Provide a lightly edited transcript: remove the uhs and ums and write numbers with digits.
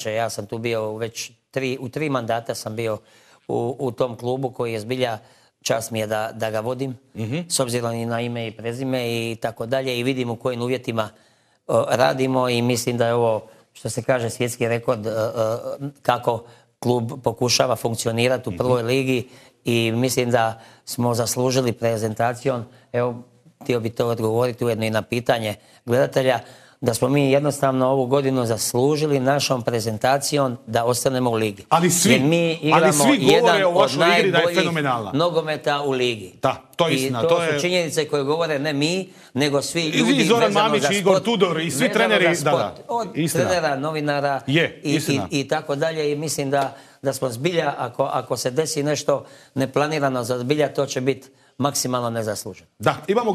Ja sam tu bio već u 3 mandata sam bio u tom klubu koji je zbilja, čast mi je da ga vodim, s obzirom i na ime i prezime i tako dalje, i vidim u kojim uvjetima radimo i mislim da je ovo, što se kaže, svjetski rekord kako klub pokušava funkcionirati u prvoj ligi i mislim da smo zaslužili prezentacijom, evo, htio bi to odgovoriti ujedno i na pitanje gledatelja, da smo mi jednostavno ovu godinu zaslužili našom prezentacijom da ostanemo u ligi. Ali svi govore o vašoj igri da je fenomenalna. Nogometa u ligi. Da, to je istina. I to su činjenice koje govore ne mi, nego svi ljudi i Zoran Mamić, i Igor Tudor, i svi treneri. Od trenera, novinara i tako dalje. I mislim da smo zbilja, ako se desi nešto neplanirano za zbilja, to će biti maksimalno nezasluženo. Da, imamo